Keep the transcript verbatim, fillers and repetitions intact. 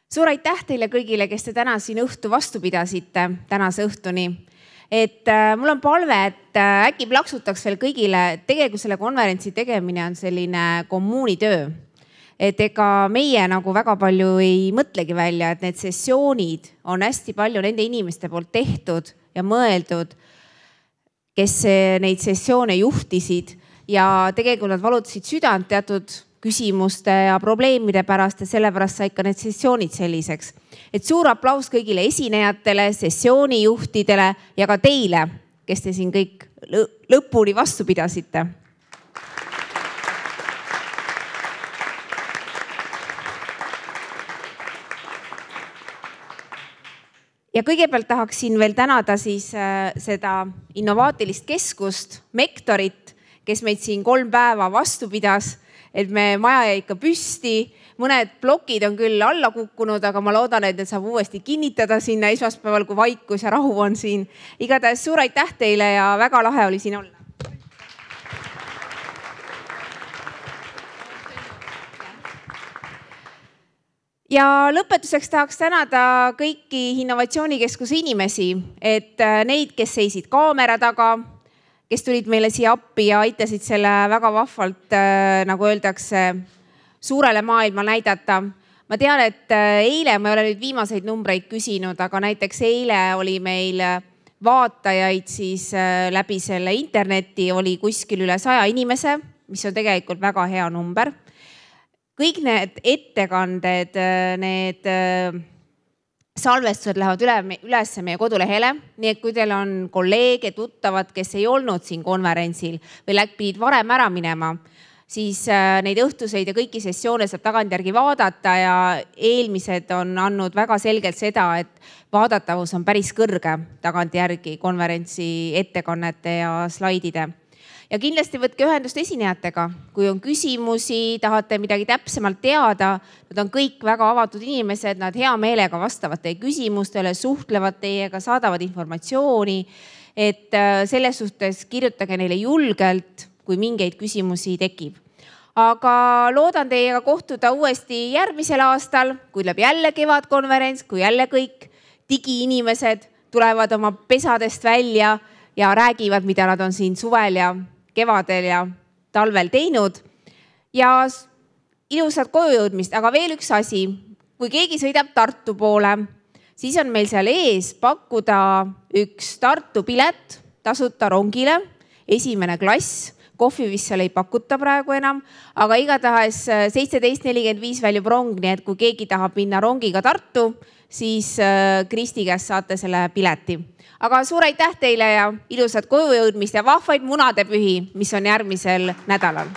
Suur aitäh teile kõigile, kes te täna siin õhtu vastu pidasite, tänase õhtuni. Et äh, mul on palve, et äh, äkki plaksutaks veel kõigile, tegelikult selle konverentsi tegemine on selline kommuunitöö. Et ega meie nagu väga palju ei mõtlegi välja, et need sessioonid on hästi palju nende inimeste poolt tehtud ja mõeldud, kes neid sessioone juhtisid ja tegelikult nad valutasid südant teatud küsimuste ja probleemide pärast ja sellepärast sai ka need sessioonid selliseks. Et suur aplaus kõigile esinejatele, sessioonijuhtidele ja ka teile, kes te siin kõik lõpuni vastu pidasite. Ja kõigepealt tahaksin veel tänada siis seda innovaatilist keskust, Mektorit, kes meid siin kolm päeva vastu pidas. Et me maja jäi ikka püsti, mõned plokid on küll alla kukkunud, aga ma loodan, et need saab uuesti kinnitada sinna esmaspäeval, kui vaikus ja rahu on siin. Igatahes suur aitäh teile ja väga lahe oli siin olla. Ja lõpetuseks tahaks tänada kõiki Innovatsioonikeskuse inimesi, et neid, kes seisid kaamera taga, kes tulid meile siia appi ja aitasid selle väga vahvalt, nagu öeldakse, suurele maailma näidata. Ma tean, et eile, ma ei ole nüüd viimaseid numbreid küsinud, aga näiteks eile oli meil vaatajaid siis läbi selle interneti, oli kuskil üle saja inimese, mis on tegelikult väga hea number. Kõik need ettekanded, need salvestused lähevad üle, üles meie kodulehele, nii et kui teil on kolleege, tuttavad, kes ei olnud siin konverentsil või pidid varem ära minema, siis neid õhtuseid ja kõiki sessioone saab tagantjärgi vaadata ja eelmised on andnud väga selgelt seda, et vaadatavus on päris kõrge tagantjärgi konverentsi ettekannete ja slaidide. Ja kindlasti võtke ühendust esinejatega, kui on küsimusi, tahate midagi täpsemalt teada, nad on kõik väga avatud inimesed, nad hea meelega vastavad teie küsimustele, suhtlevad teiega, saadavad informatsiooni, et selles suhtes kirjutage neile julgelt, kui mingeid küsimusi tekib. Aga loodan teiega kohtuda uuesti järgmisel aastal, kui tuleb jälle kevadkonverents, kui jälle kõik digiinimesed tulevad oma pesadest välja ja räägivad, mida nad on siin suvel ja kevadel ja talvel teinud ja ilusat koju jõudmist. Aga veel üks asi, kui keegi sõidab Tartu poole, siis on meil seal ees pakkuda üks Tartu pilet tasuta rongile, esimene klass, kohvi vist seal ei pakuta praegu enam, aga igatahes seitseteist nelikümmend viis väljub rong, nii et kui keegi tahab minna rongiga Tartu, siis Kristi käest saate selle pileti. Aga suur aitäh teile ja ilusat koju jõudmist ja vahvaid munadepühi, mis on järgmisel nädalal.